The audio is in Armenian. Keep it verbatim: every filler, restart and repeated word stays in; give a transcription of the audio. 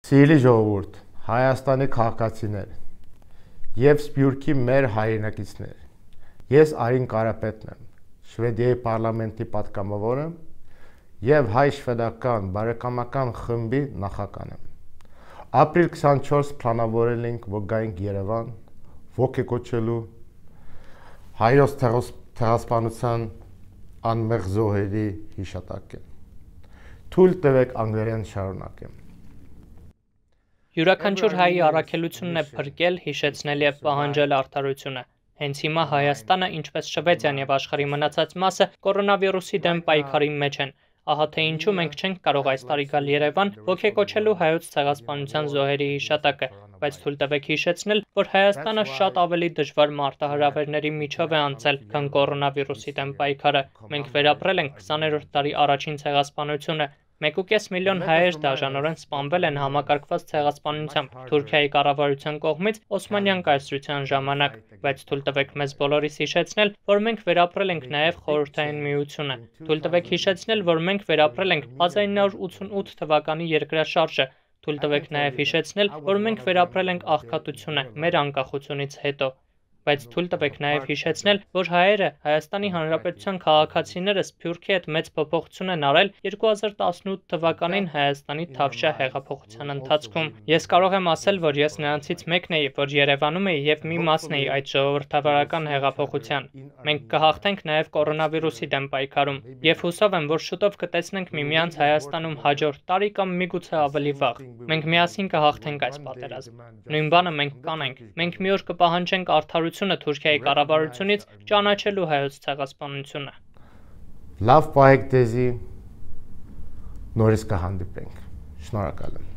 Սիրելի ժողովուրդ, Հայաստանի քաղաքացիներ եւ Սփյուռքի մեր հայրենակիցներ, ես Արին Կարապետն եմ, Շվեդիայի պարլամենտի պատգամավորը եւ հայ-շվեդական բարեկամական խմբի նախագահն եմ։ Ապրիլ քսանչորս պլանավորել ենք, որ գայինք Երևան, ոգեկոչելու հայոց ցեղասպանության անմեղ զոհերի հիշատակը։ Թույլ տվեք անգլերեն շարունակեմ։ Յուրաքանչյուր հայի առաքելությունն է փրկել, հիշեցնել եւ պահանջել արդարությունը։ Հենց հիմա Հայաստանը, ինչպես Շվեդիան եւ աշխարհի մնացած մասը, կորոնավիրուսի դեմ պայքարի մեջ են։ Ահա թե ինչու մենք չենք կարող այս տարի գալ Երևան ոգեկոչելու հայոց ցեղասպանության զոհերի հիշատակը, բայց թույլ տվեք հիշեցնել, որ Հայաստանը շատ ավելի դժվար մարտահրավերների միջով է անցել, քան կորոնավիրուսի դեմ պայքարը։ Մենք վերապրել ենք քսաներորդ դարի առաջին ցեղասպանությունը։ մեկ ու կես միլիոն հայեր դաժանորեն սպանվել են համակարգված ցեղասպանությամբ Թուրքիայի կառավարության կողմից Օսմանյան կայսրության ժամանակ, բայց թույլ տվեք մեզ բոլորիս հիշեցնել, որ մենք վերապրել ենք նաև Խորհրդային Միությունը։ Թույլ տվեք հիշեցնել, որ մենք վերապրել ենք հազար ինը հարյուր ութսունութ թվականի երկրաշարժը։ Թույլ տվեք նաև հիշեցնել, որ մենք վերապրել ենք աղքատությունը մեր անկախությունից հետո։ Բայց թույլ տվեք նաև հիշեցնել, որ հայերը Հայաստանի Հանրապետության քաղաքացիները Սփյուռքի հետ մեծ փոփոխություն են արել երկու հազար տասնութ թվականին Հայաստանի Թավշյա հեղափոխության ընթացքում։ Ես կարող եմ ասել, որ ես նրանցից մեկն էի, որ Երևանում էի եւ մի մասն էի այդ ժողովրդավարական հեղափոխության։ Մենք կհաղթենք նաև կորոնավիրուսի դեմ պայքարում եւ հուսով եմ, որ շուտով կտեսնենք միմյանց Հայաստանում հաջորդ տարի կամ միգուցե ավելի վաղ։ Մենք միասին կհաղթենք այս պատերազմ։ Նույն բանը մենք կանենք։ Մենք մի օր կպահանջենք արդարություն Թուրքիայի կառավարությունից ճանաչելու հայոց ցեղասպանությունը։ Լավ պահեք դեզի, նորից կհանդիպենք։ Շնորհակալ եմ։